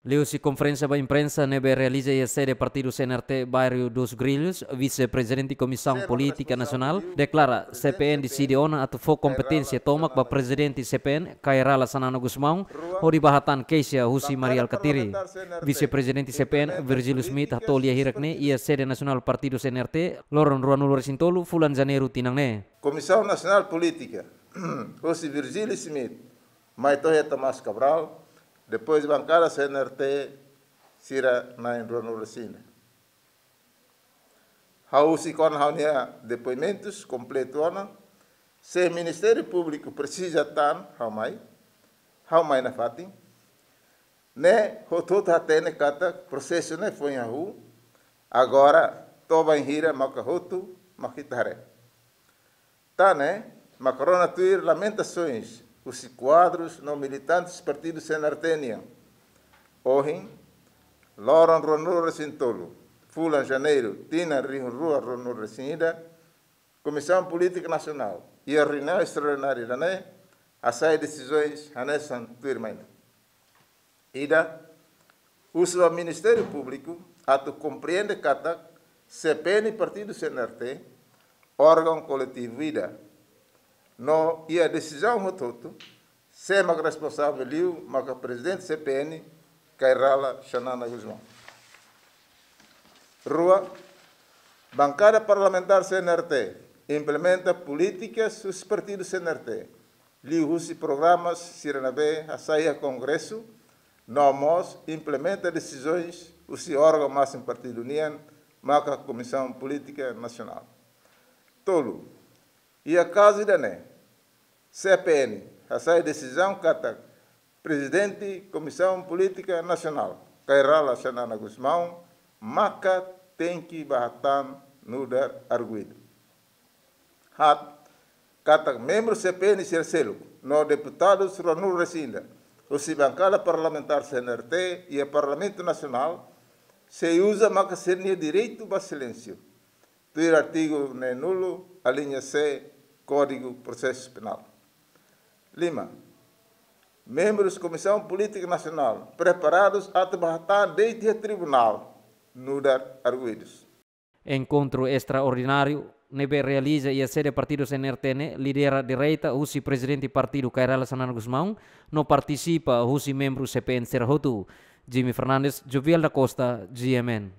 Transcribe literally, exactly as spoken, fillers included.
Liuhusi konferénsia ba imprensa ne'ebé realiza iha sede partidu C N R T, bairru dos Grilhos, Vise-Prezidente Komisaun Polítika Nasionál deklara C P N deside ona atu fó kompeténsia tomak ba Prezidente C P N, Kay Rala Xanana Gusmão, hodi bá hatán keixa husi Mari Alkatiri. Vise-Prezidente C P N, Virgílio Schmidt, hato'o lia hirak ne'e iha sede nasionál partidu C N R T, loron ruanulu-resin-tolu fulan Janeiru tinan ne'e. Komisaun Nasionál Polítika, husi Virgílio Schmidt, mai to'o iha Tomás Cabral, depois bankada C N R T sira na'in ruanulu-resin-ida. Ha'u husik ona ha'u-nia depoimentus kompletu ona, se Ministériu Públiku presiza tan ha'u mai, ha'u mai nafatin. Ne'e hotu-hotu hatene katak prosesu ne'e foin hahú, agora to'o bainhira maka hotu, mak ita haree. Tan ne'e, maka rona tuir lamentasoens husi kuadrus no militantes partidu C N R T nian. Ohin, loron ruanulu-resin-tolu, fulan Janeiru, tinan rihun rua ruanulu-resin-ida, Komisaun Polítika Nasionál iha reuniaun estraordinária ida-ne'e hasai desizaun hanesan tuirmai. Ida, husu ba Ministériu Públiku atu komprende katak C P N partidu C N R T órgaun koletivu ida. No iha desizaun hotu-hotu, sé mak responsavel liu maka Prezidente C P N, Kay Rala Xanana Gusmão. Rua, bankada parlamentár C N R T implementa polítikas husi partidu C N R T, liuhusi programas sira ne'ebé hasai iha Kongresu, no mós implementa desizaun husi órgaun másimu partidu nian, maka Komisaun Polítika Nasionál. Tolu, iha kazu ida-ne'e, C P N hasai desizaun katak Prezidente Komisaun Polítika Nasionál, Kay Rala Xanana Gusmão, maka tenke bá hatán nu'udar arguidu. Haat, katak membru C P N sira seluk no deputadus ruanulu-resin-ida husi bankada parlamentár C N R T iha Parlamentu Nasionál, sei uza maka sira-nia direitu ba silénsiu, tuir artigu neenulu, alínea C, Kódigu Prosesu Penál. Lima, membrus Komisaun Polítika Nasionál preparadus atu bá hatán de'it iha tribunál nu'udar arguidus. Enkontru estraordináriu ne'ebé realiza iha sede partidu C N R T ne'e lidera direta husi Prezidente Partidu, Kay Rala Xanana Gusmão, no partisipa husi membru C P N sira hotu. Jimmy Fernandes, Joviel da Costa, G M N.